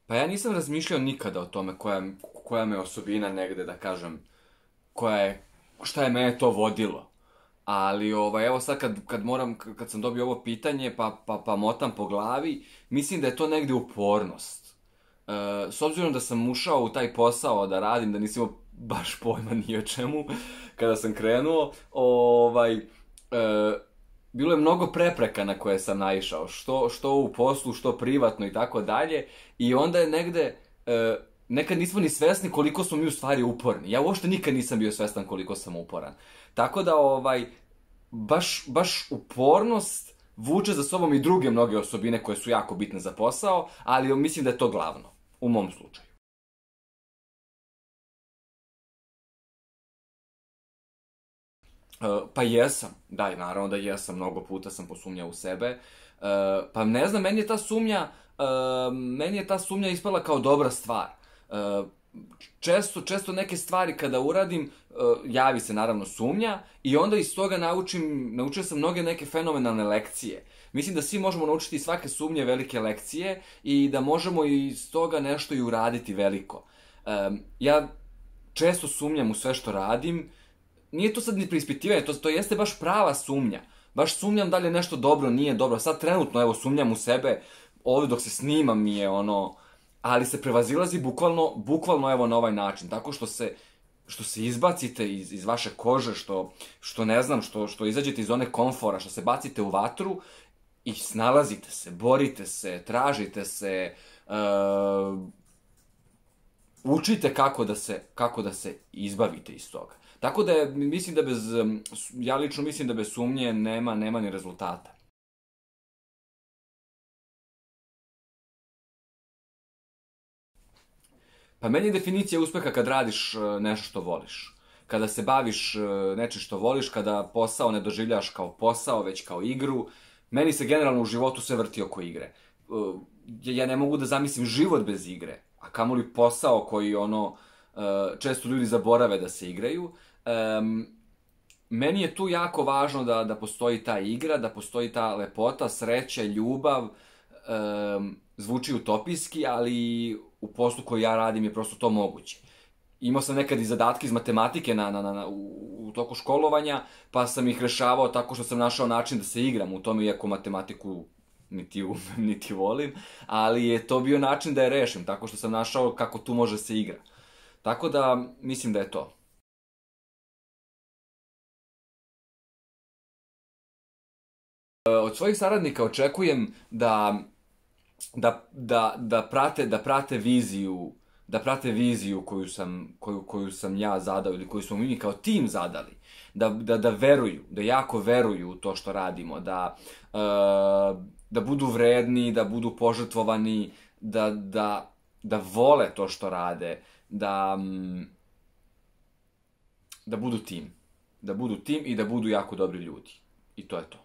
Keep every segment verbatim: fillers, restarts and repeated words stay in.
Pa ja nisam razmišljao nikada o tome koja, koja me osobina negde, da kažem, koja je, šta je mene to vodilo. Ali, ovaj, evo sad kad, kad moram, kad sam dobio ovo pitanje, pa, pa, pa motam po glavi, mislim da je to negde upornost. E, s obzirom da sam ušao u taj posao da radim, da nisam imao baš pojma ni o čemu, kada sam krenuo, ovaj, e, bilo je mnogo prepreka na koje sam naišao, što, što u poslu, što privatno i tako dalje, i onda je negde, e, nekad nismo ni svesni koliko smo mi u stvari uporni. Ja uopšte nikad nisam bio svestan koliko sam uporan. Tako da, ovaj, baš, baš upornost vuče za sobom i druge mnoge osobine koje su jako bitne za posao, ali mislim da je to glavno, u mom slučaju. Uh, pa jesam, da, naravno da jesam, mnogo puta sam posumnjao u sebe. Uh, pa ne znam, meni je ta sumnja, uh, meni je ta sumnja ispala kao dobra stvar. Uh, često, često neke stvari kada uradim, uh, javi se naravno sumnja i onda iz toga naučim, naučio sam mnoge neke fenomenalne lekcije. Mislim da svi možemo naučiti iz svake sumnje velike lekcije i da možemo iz toga nešto i uraditi veliko. Um, ja često sumnjam u sve što radim. Nije to sad ni preispitivanje, to, to jeste baš prava sumnja. Baš sumnjam da li je nešto dobro, nije dobro. Sad trenutno, evo, sumnjam u sebe, ovdje dok se snimam mi je ono, ali se prevazilazi bukvalno, bukvalno evo na ovaj način, tako što se, što se izbacite iz, iz vaše kože, što, što ne znam, što, što izađete iz one komfora, što se bacite u vatru i snalazite se, borite se, tražite se, uh, učite kako da se, kako da se izbavite iz toga. Tako da je, mislim da bez, ja lično mislim da bez sumnje nema, nema ni rezultata. Pa meni je definicija uspeha kad radiš nešto što voliš. Kada se baviš nečim što voliš, kada posao ne doživljaš kao posao, već kao igru. Meni se generalno u životu sve vrti oko igre. Ja ne mogu da zamislim život bez igre, a kamoli posao koji ono, često ljudi zaborave da se igraju. Um, meni je tu jako važno da, da postoji ta igra, da postoji ta lepota, sreća, ljubav, um, zvuči utopijski, ali u poslu koji ja radim je prosto to moguće. Imao sam nekad i zadatke iz matematike na, na, na, u, u toku školovanja, pa sam ih rešavao tako što sam našao način da se igram u tome, iako matematiku niti umem, niti volim, ali je to bio način da je rešim, tako što sam našao kako tu može se igra. Tako da, mislim da je to. Od svojih saradnika očekujem da, da, da, da, prate, da prate viziju, da prate viziju koju sam, koju, koju sam ja zadao ili koju smo mi kao tim zadali. Da, da, da veruju, da jako veruju u to što radimo, da, uh, da budu vredni, da budu požrtvovani, da, da, da vole to što rade, da, da budu tim. Da budu tim i da budu jako dobri ljudi. I to je to.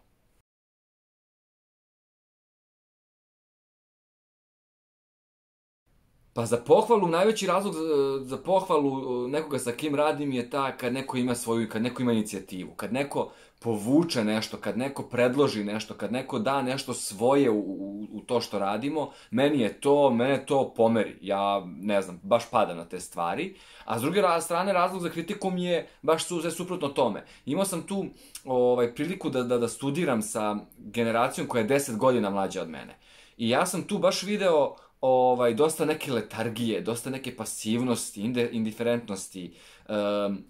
Pa za pohvalu, najveći razlog za, za pohvalu nekoga sa kim radim je ta kad neko ima svoju, kad neko ima inicijativu, kad neko povuče nešto, kad neko predloži nešto, kad neko da nešto svoje u, u, u to što radimo, meni je to, mene to pomeri. Ja, ne znam, baš padam na te stvari. A s druge strane, razlog za kritiku mi je baš su, sve suprotno tome. Imao sam tu ovaj, priliku da, da, da studiram sa generacijom koja je deset godina mlađa od mene. I ja sam tu baš video ovaj, dosta neke letargije, dosta neke pasivnosti, inde, indiferentnosti. Um,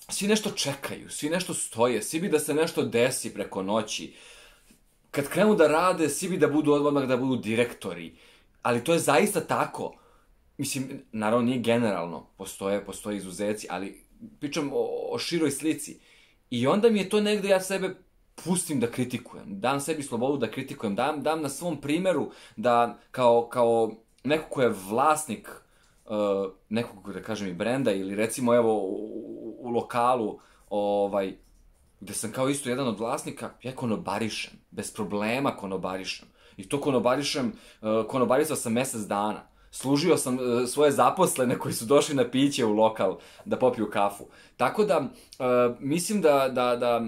svi nešto čekaju, svi nešto stoje, svi bi da se nešto desi preko noći. Kad krenu da rade, svi bi da budu odmah da budu direktori. Ali to je zaista tako. Mislim, naravno nije generalno, postoje, postoje izuzeci, ali pričam o, o široj slici. I onda mi je to negde, ja sebe pustim da kritikujem, dam sebi slobodu da kritikujem, dam, dam na svom primjeru da kao, kao neko ko je vlasnik uh, nekog, da kažem, i brenda ili recimo evo u, u lokalu ovaj, gde sam kao isto jedan od vlasnika, ja konobarišem, bez problema konobarišem. I to konobarišem, uh, konobarisao sam mesec dana. Služio sam uh, svoje zaposlene koji su došli na piće u lokal da popiju kafu. Tako da, uh, mislim da, da, da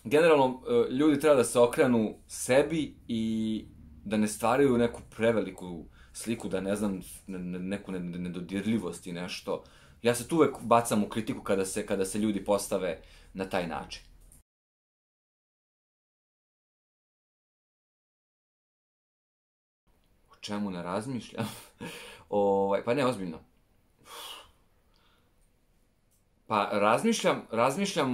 generalno, ljudi treba da se okrenu sebi i da ne stvaraju neku preveliku sliku, da ne znam, neku nedodirljivost i nešto. Ja se tu uvek bacam u kritiku kada se, kada se ljudi postave na taj način. O čemu ne razmišljam? ovaj, pa ne, ozbiljno. Pa razmišljam, razmišljam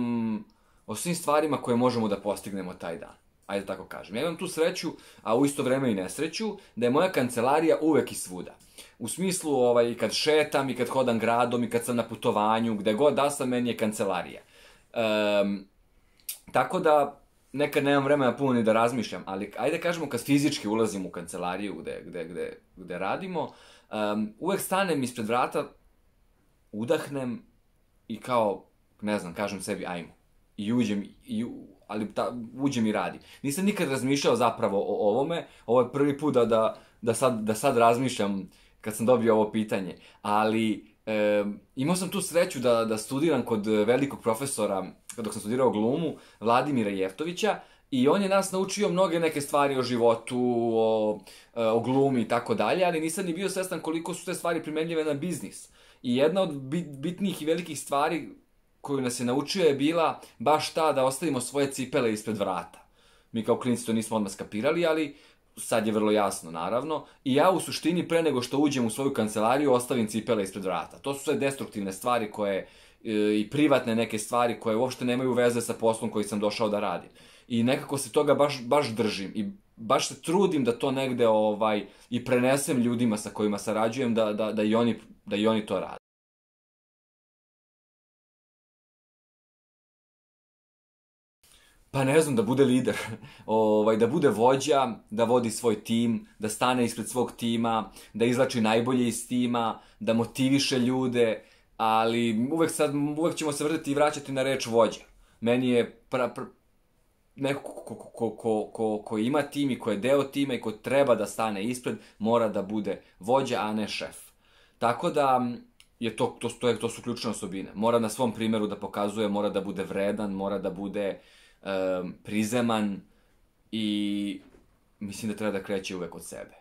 o svim stvarima koje možemo da postignemo taj dan. Ajde tako kažem. Ja imam tu sreću, a u isto vreme i nesreću, da je moja kancelarija uvek i svuda. U smislu, ovaj, kad šetam i kad hodam gradom i kad sam na putovanju, gde god da sam, meni je kancelarija. Um, tako da, nekad nemam vremena puno ni da razmišljam, ali ajde kažemo kad fizički ulazim u kancelariju gde, gde, gde, gde radimo, um, uvek stanem ispred vrata, udahnem i kao, ne znam, kažem sebi ajmo. I uđem, i, ali ta, uđem i radim. Nisam nikad razmišljao zapravo o ovome, ovo je prvi put da, da, da, sad, da sad razmišljam kad sam dobio ovo pitanje, ali e, imao sam tu sreću da, da studiram kod velikog profesora, dok sam studirao glumu, Vladimira Jeftovića, i on je nas naučio mnoge neke stvari o životu, o, o glumi i tako dalje, ali nisam ni bio svestan koliko su te stvari primenljive na biznis. I jedna od bitnijih i velikih stvari koju nas je naučio je bila baš ta da ostavimo svoje cipele ispred vrata. Mi kao klinici to nismo odmah skapirali, ali sad je vrlo jasno, naravno. I ja u suštini pre nego što uđem u svoju kancelariju ostavim cipele ispred vrata. To su sve destruktivne stvari koje, i privatne neke stvari koje uopšte nemaju veze sa poslom koji sam došao da radim. I nekako se toga baš, baš držim i baš se trudim da to negde ovaj, i prenesem ljudima sa kojima sarađujem da, da, da, i oni, da i oni to rade. Pa ne znam, da bude lider, ovaj, da bude vođa, da vodi svoj tim, da stane ispred svog tima, da izlači najbolje iz tima, da motiviše ljude, ali uvek, sad, uvek ćemo se vrtiti i vraćati na reč vođa. Meni je pra, pra, neko ko, ko, ko, ko, ko ima tim i ko je deo tima i ko treba da stane ispred, mora da bude vođa, a ne šef. Tako da je to, to, to, je, to su ključne osobine. Mora na svom primjeru da pokazuje, mora da bude vredan, mora da bude um, prizeman i mislim da treba da kreće uvek od sebe.